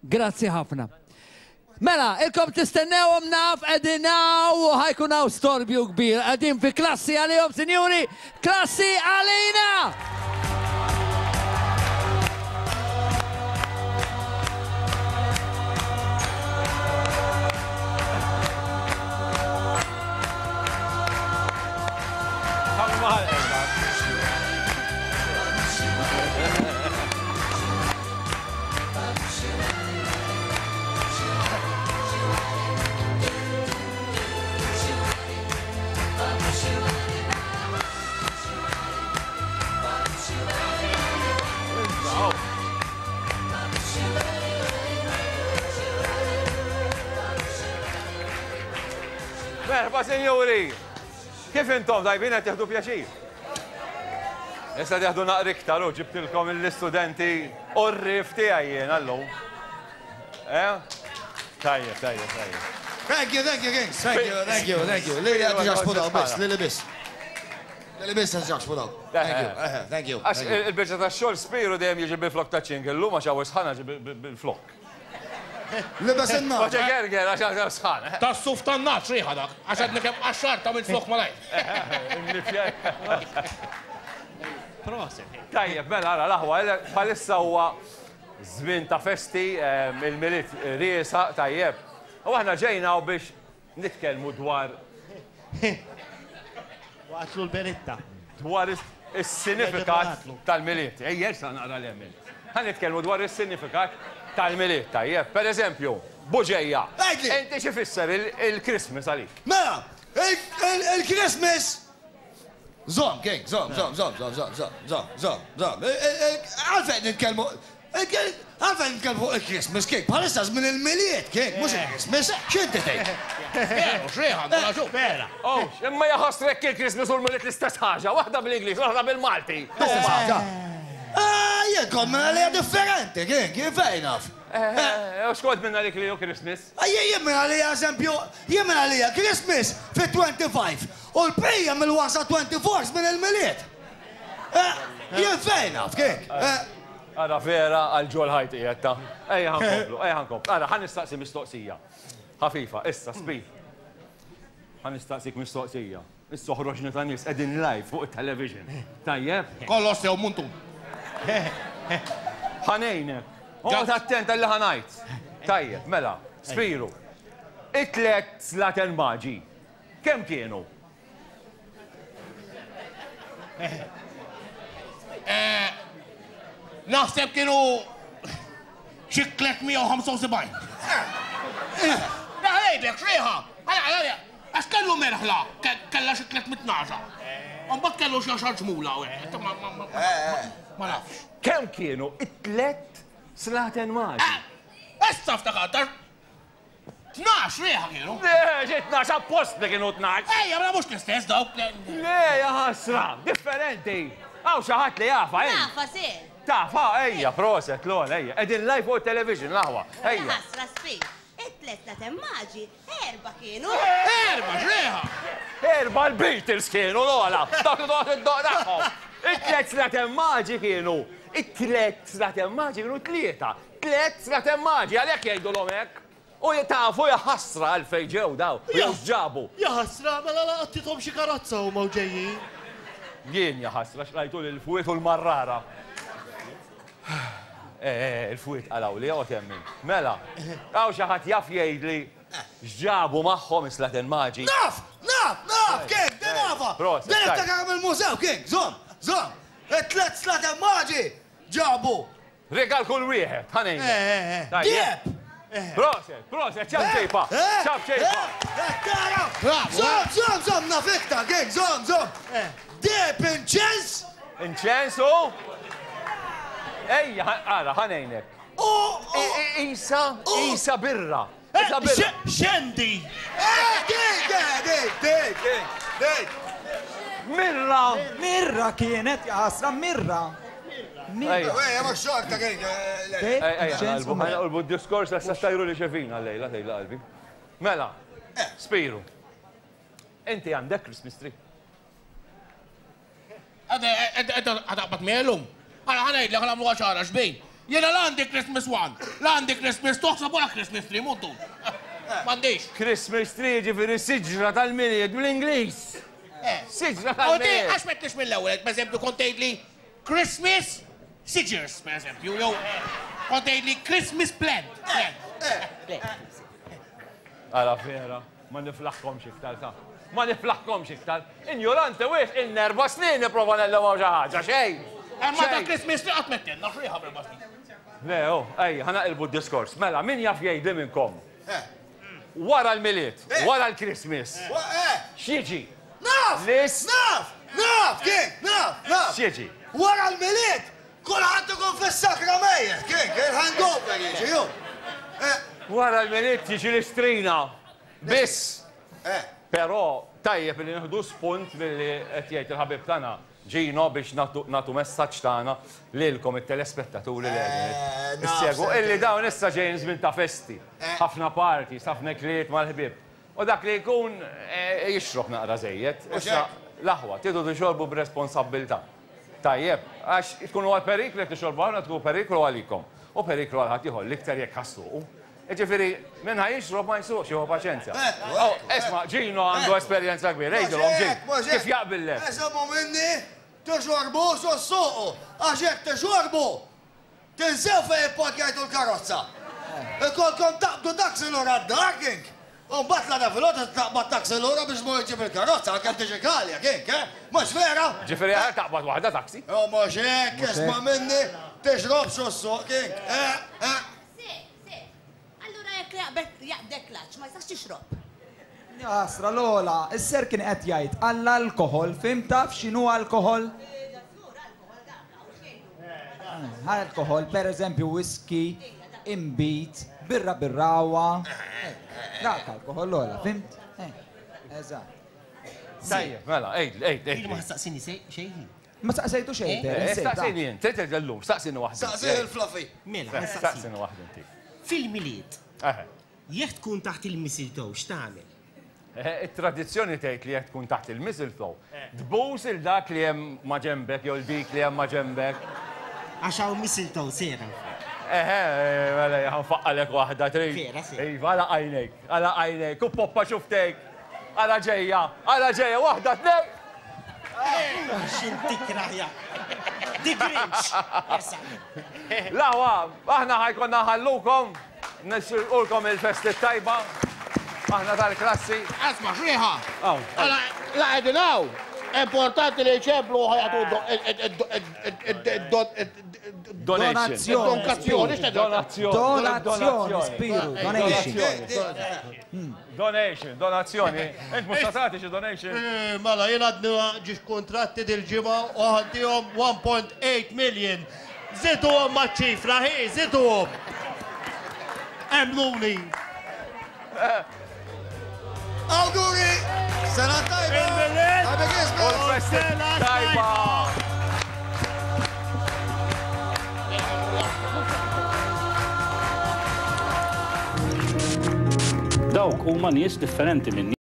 Grazzi ħafna. Mela, ilkom tistennewhom naf qegħdin hawn u ħa jkun hawn storbju kbir. Qegħdin fi klassi għalihom, sinjuri, klassi għalina! Merħba sinjuri! Kif intom tajbin qed tieħdu pjaċir? Issa tieħdu naqra iktar u ġibtilkom l-istudenti u r-rif tiegħi jiena llum. Eh? Tajjeb, tajjeb, tajjeb. Thank you, thank you, Kings. Thank you, thank you, thank you. Lili għad ġaxpu biss, lili biss. Lili biss għad ġaxpu daw. Thank you, eh, thank you. Għax il-biċċa tax-xogħol Spiru dejjem jiġi bil-flok ta' ċink, illum għax hawn sħana ġi bil-flok. Libes in-nar. Għax gerger għax hawn sħana. Tas-suf tan-nagħaġ riħa dak, għax għadni kemm qaxxart għamilt flok malajr. Proset. Tajjeb, mela ara l-aħwa, bħalissa huwa żmien ta' festi, il-Milied riesaq, tajjeb. U aħna ġejna hawn biex Nitkellmu dwar. Waqgħatlu l-beritta. Dwar is-sinifikat tal-Milied. Ejja, issa naqra l-hemm. Ħa nitkellmu dwar is-sinifikat tal-Milied, tajjeb. Per eżempju, Buġeja. Inti xi fisser il-Christmas għalik? Mela, il-Christmas Żomm, King, żomm, żomm, żomm, żomm, żomm, żomm, żomm, żomm, żomm. Għalfejn nitkellmu Għalfejn nitkellmu fuq il-Christmas, King? Bħalissa żmien il-Milied, King, mhux il-Christmas. X'inti tgħid? Veru, x'riħa, għandu raġun. Vera. Oh, imma jaħasrek il-Christmas u l-Milied l-istess ħaġa, waħda bl-Ingliż, l-oħra bil-Malti. L-istess ħaġa. Ah, jien kont minn għalija differenti, King, jien fejn naf. Eh, u x'kont minn għalik li hu Christmas? Ah, jien minn għalija, eżempju, jien minn għalija Christmas fit-25 u l-bqija mill-wasa 24 minn il-Milied. Eh, jien fejn naf, King. Eh. Ara vera għal ġol ħajt qiegħed ta. Ejja ħa nkomplu, ejja ħa nkomplu. Ara ħa nistaqsi mistoqsija. Ħafifa, issa Speed. Ħa nistaqsik mistoqsija. Issa oħroġna ta' nies qegħdin live fuq it-television. Tajjeb? Kollox sew muntun. Ħa ngħinek. Oqgħod attent għal li ħa ngħid. Tajjeb, mela, Spiru. It-tlet slaten maġi, kemm kienu? Eh, naħseb kienu xi 375. Ngħidlek xriħa, għax kellu merħla, kellha xi 300 naġa. Mbagħad kellu xi għaxar ġmula u hekk. Ma nafx. Kemm kienu it-tlet slaten maġi? Eh, issa ftakart, 12 riħa kienu. Le, xi 12 apposta kienu 12. Ejja, mela mhux l-istess dawk. Le, ja ħasra, differenti. Hawn xi ħadd li jafa, ej. Tafa, sir. Tafa, ejja, proset, lol, ejja. Qegħdin live fuq television l-aħwa. Ejja. Ħasra sfi. It-tlet ta' temmaġi, erba kienu. Erba, xriħa. Erba l-Beatles kienu l-ola. Dak li toqgħod id-doq tagħhom. It-tlet slatemmaġi kienu. It-tlet slatemmaġi kienu tlieta. Tlett slaten maġi, għalhekk jgħidulhom hekk. U tafu jaħasra għalfejn ġew daw, jew x'ġabu. Jaħasra, mela laqattithom xi karozza huma u ġejjin. Jien jaħasra x'rajtu lill-fwiet u l-marrara. Eh, eh, il-fwiet qalgħuli, oqgħod hemm int. Mela, hawn xi ħadd jaf jgħidli x'ġabu magħhom is-slaten maġi? Naf! Naf! Naf! King, din nafha! Din niftakar mill-mużew, King! Żomm! Żomm! It-tliet slaten maġi ġabu Rigal kull wieħed, ħa ngħidlek. Tajjeb. Proset, proset, ċab ċejpa. Ċab ċejpa. Tara! Żomm, żomm, żomm, naf iktar, King, żomm, żomm. Deheb inċens. Inċens u? Ejja, ara, ħa ngħinek. U. Isa, isa birra. Xendi! Dik, dik, dik, dik. Mirra! Mirra kienet, jaħasra, mirra. Mirra. Ejja, ma xorta kien. Ejja, ħa naqlbu d-diskors għax se tajru li xefina llejla, tgħidla qalbi. Mela, Spiru, inti għandek Christmas tree? Għada qbad miegħi llum. Ara ħa ngħidlek ħa nagħmluha ċara xbin. Jiena la għandi Christmas 1, la għandi Christmas 2, ħseb wara Christmas 3, muddu. M'għandix. Christmas tree ġifieri siġra tal-Milied bl-Ingliż. Siġra U di, tal-Milied. għax m'għedtlix mill-ewwel, per eżempju, kont tgħidli Christmas scissors, per eżempju, jew kont tgħidli Christmas plant. Plant. Ara vera, ma niflaħkomx iktar ta. Ma niflaħkomx iktar. Injorante wis, in-nerba snin nipprova nellem xi ħaġa, xejn. Imma ta' Xejn. Christmas tree qatt m'għedtilna x'riħa b'erba' snin. Le, oh, ej, ħa naqilbu d-diskors. Mela, min jaf jgħidli minnkom? Wara l-Milied, wara l-Christmas, x'jiġi? Naf! Lis. Naf! Naf, King! Naf! Naf! X'jiġi? Wara l-Milied, kulħadd ikun fis-sakra mejjet, King! Il-hangover jiġi, ju! Wara l-Milied tiġi l-istrina. Biss. Però tajjeb li nieħdu spunt milli qed jgħid il-ħabib tagħna Gino biex nagħtu messaġġ tagħna lilkom it-telespettaturi li qegħdin issegwu illi dawn issa ġejjin żmien ta' festi, ħafna parties, ħafna ikliet mal-ħbieb. U dak li jkun jixrob naqra żejjed. Issa l-aħwa tridu tixorbu b'responsabbiltà. Tajjeb, għax tkunu għal periklu jekk tixorbu ħafna tkunu periklu għalikom u periklu għal ħaddieħor l-iktar jekk ħassuqu. Jiġifieri, min ħa jixrob ma jsuqx, jieħu paċenzja. Oh, isma' Gino għandu esperjenza kbira, għidilhom Gino, kif jaqbillek? Eżommu minni, tixorbux u ssuqu, għax jekk tixorbu, tinsew fejn ipparkjajtu l-karozza. Ikolkom taqbdu taxi lura d-dar, King. U mbagħad l-għada filgħodu taqbad taxi lura biex tmur iġġib il-karozza, għalkemm tiġi għalja, King, eh? Mhux vera? Ġifieri aħjar taqbad waħda taxi. Oh, mhux hekk, isma' minni, tixrobx u ssuq, King, eh, eh. Allura jekk jaqbdek l-għatx ma jistax tixrob. Ja ħasra Lola, is-ser kien qed jgħid għall-alkoħol, fhimt taf x'inhu alkoħol? Alkoħol, per eżempju whisky, inbid, birra birrawa. Dak alkoħol Lola, fhimt? Eżatt. Tajjeb, mela, għidli, għidli. Jien ma ħassaqsini xejn. Ma saqsejtu xejn, Ter, insejt, Staqsini int, trid illum, staqsini waħda. Staqsini il-Fluffy. Mela, ħassaqsini. Staqsini waħda inti. Fil-Milied, jekk tkun taħt il-mistletoe, x'tagħmel? It-tradizzjoni tgħid li jekk tkun taħt il-mistletoe, tbus il dak li hemm ma' ġenbek jew dik li hemm ma' ġenbek. Għax hawn mistletoe sera. Eħe, mela ħanfaqqalek waħda trid. Vera, sera. Iva, għala għajnejk, għala għajnejk, u poppa xuftejk. Għala ġejja, għala ġejja, waħda, tnej. X'inti kraħja. Di Grinch. Lawa, aħna ħajkonna ħallukom, nixilqulkom il-festi tajba. Aħna tal-klassi. Asma, xriħa. La qegħdin hawn. Importanti li jċemplu ħajatu Donation. Donkazzjoni. Donazzjoni. Donazzjoni, Spiru, donation. Donation, donazzjoni. Int mhux ta' tagħti xi donation? Mela, jien għadni ġiex kontratti dil-ġimgħa u ħaddihom 1.8 million. Żiduhom maċ-ċifra, hi, żiduhom. Emnuni. Awguri! Sena tajba! Happy Christmas! Sena tajba! Dawk huma nies differenti minni.